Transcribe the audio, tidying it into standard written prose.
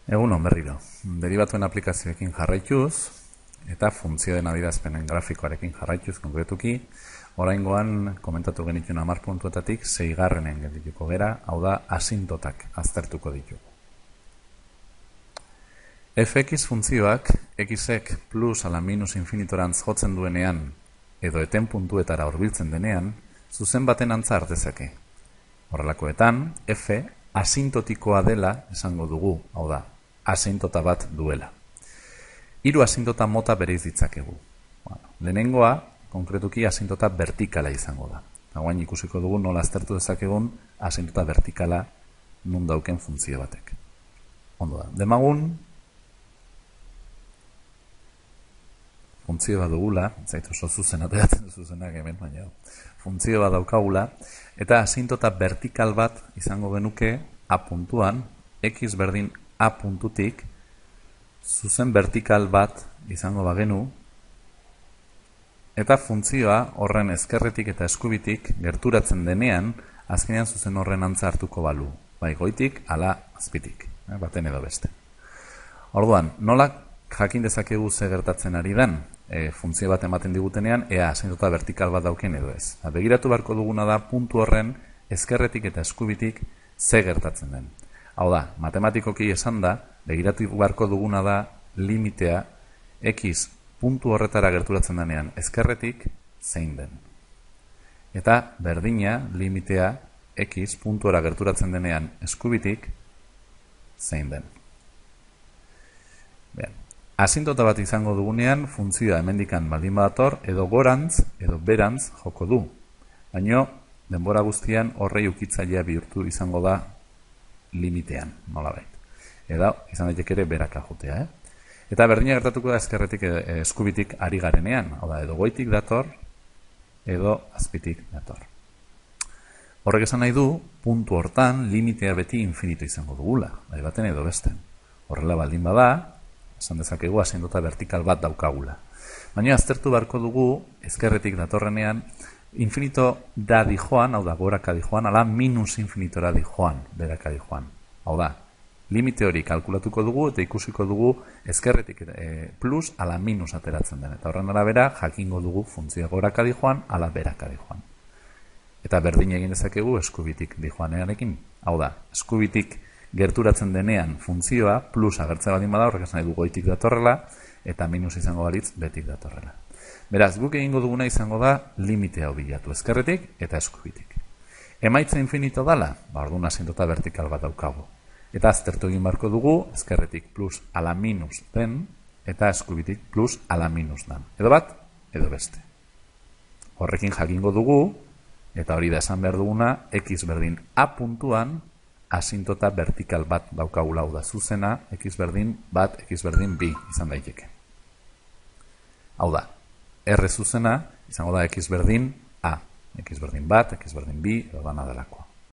Egunon berriro, deribatuen aplikazioekin jarraituz eta funtzioen adierazpenen grafikoarekin jarraituz konkretuki, oraingoan komentatu genituen 10 puntuetatik 6. geldituko gera, hau da asintotak aztertuko ditugu. fx funtzioak xek plus ala minus infinitorantz jotzen duenean edo eten puntuetara hurbiltzen denean, zuzen baten antza hartezake. Horrelakoetan, f asintotikoa dela esango dugu, hau da, asintota bat duela. 3 asintota mota bereiz ditzakegu. Lehenengoa, konkretuki asintota vertikala izango da. Hauain ikusiko dugu nola aztertu dezakegun asintota vertikala nun dauken funtzio batek. Ondo da, demagun funtzio bat dugula, zaitu oso zuzen ateratzen zuzenak hemen, baina funtzio bat daukagula, eta asintota vertikal bat izango genuke a puntuan, x berdin a puntutik, zuzen vertikal bat izango bagenu, eta funtzioa horren ezkerretik eta eskubitik gerturatzen denean, azkenean zuzen horren antza hartuko balu, bai goitik, ala azpitik, baten edo beste. Orduan, nola jakin dezakegu ze gertatzen ari den, funtzio bat ematen digutenean, ea asintota vertikal bat dauken edo ez. Begiratu beharko duguna da puntu horren ezkerretik eta eskubitik ze gertatzen den. Hau da, matematikoki esan da, begiratu beharko duguna da limitea x puntu horretara gerturatzen denean ezkerretik zein den. Eta berdina limitea x puntuara gerturatzen denean eskubitik zein den. Asintota bat izango dugunean, funtzioa hemendikan baldin badator, edo gorantz, edo berantz joko du. Baina, denbora guztian horrei ukitzailea bihurtu izango da limitean, nolabait. Eta izan daiteke ere beraka jotea. Eta berdina gertatuko da ezkerretik eskubitik ari garenean. Hau da, edo goitik dator, edo azpitik dator. Horrek esan nahi du, puntu hortan limitea beti infinito izango dugula, bai baten edo besten. Horrela baldin bada, esan dezakegu asintota vertikal bat daukagula. Baina aztertu beharko dugu, ezkerretik datorrenean, infinito da dijoan, hau da, goraka dijoan, ala minus infinitora dijoan, beraka dijoan. Hau da, limite hori kalkulatuko dugu eta ikusiko dugu ezkerretik plus ala minus ateratzen den. Eta horren arabera, jakingo dugu funtzioa goraka dijoan, ala beraka dijoan. Eta berdin egin dezakegu eskubitik dijoanearekin. Hau da, eskubitik gerturatzen denean funtzioa plus agertza baldin bada, horrek esan nahi du goitik datorrela eta minus izango balitz betik datorrela. Beraz, guk egingo duguna izango da limitea bilatu ezkerretik eta eskubitik. Emaitza infinito dala, orduan asintota vertikal bat daukagu. Eta aztertu egin beharko dugu ezkerretik plus ala minus den eta eskubitik plus ala minus den. Edo bat, edo beste. Horrekin jakingo dugu, eta hori da esan behar duguna, x berdin a puntuan asintota vertikal bat daukagula, da zuzena, x berdin bat, x berdin bi izan daiteke. Hau da, r zuzena izango da x berdin a, x berdin bat, x berdin bi, edo dana delakoa.